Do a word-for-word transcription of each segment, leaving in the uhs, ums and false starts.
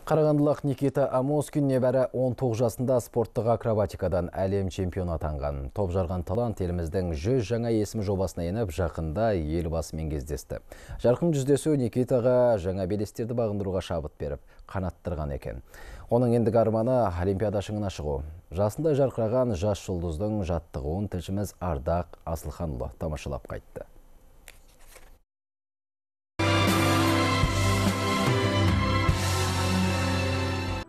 Қарағандылық Никита Амоскин небәрі он тоғыз жасында спорттық акробатикадан әлем чемпионы атанған. Топ жарған талант еліміздің жүз жаңа есім жобасына еніп, жақында елбасымен кездесті. Жарқын жүздесу Никитаға жаңа белестерді бағындыруға шабыт беріп, қанаттырған екен. Оның ендігі арманы Олимпиада шыңына шығу. Жасында жарқыраған жас жұлдыздың жаттығуын тілшіміз Ардақ Асылханұлы тамашалап қайтты.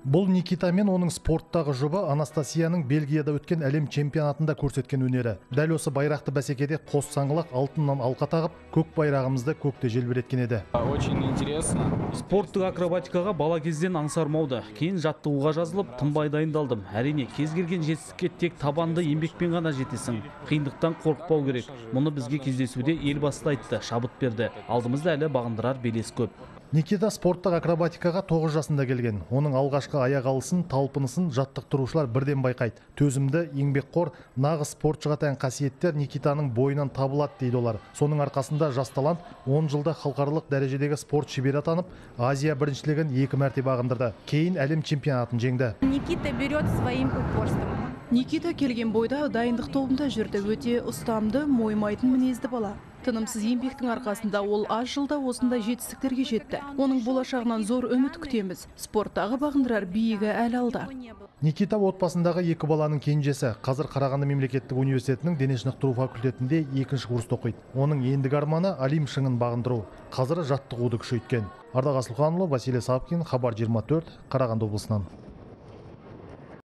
Бұл Никита мен оның спорттағы жұбы Анастасияның Бельгияда өткен әлем чемпионатында көрсеткен өнері. Дәл осы байрақты бәсекеде қос саңғылақ алтыннан алқа тағып, көк байрағымызды көкте желбіреткен еді. Очень интересно. Спорттық акробатикаға бала кезден аңсармауды, кейін жаттығуға жазылып, тынбай дайындалдым. Әрине, кез келген жетістікке тек табанды еңбекпен ғана жетесің. Қиындықтан қорықпау керек. Мұны бізге кездесуде елбасы айтты, шабыт берді. Алдымызда әлі бағындырар белес көп. Никита спорттық акробатикаға тоғыз жасында келген. Оның алғашқы аяқ алысын, талпынысын жаттықтырушылар бірден байқайды. Төзімді, еңбекқор, нағыз спортшыға тән қасиеттер Никитаның бойынан табылады дейді олар. Соның арқасында жас талант он жылда халықаралық дәрежедегі спорт шебері атанып, Азия біріншілігін екі мәрте бағындырды. Кейін әлем чемпионатын жеңді. Никита берет своим упорством. Никита келген бойда дайындық тобында жүрді. Өте ұстамды, мойымайтын мінезді бала. Тынымсыз еңбектің арқасында ол аз жылда осындай жетістіктерге жетті. Оның болашағынан зор үміт күтеміз. Спорттағы бағындырар биігі әлі алда. Никита отбасындағы екі баланың кенжесі. Қазір Қарағанды мемлекеттік университетінің дене шынықтыру факультетінде екінші курста оқиды. Оның ендігі арманы Олимп шыңын бағындыру. Қазір жаттығуды күшейткен. Ардақ Асылханұлы, Василий Сапкин, Хабар жиырма төрт, Қарағанды облысынан.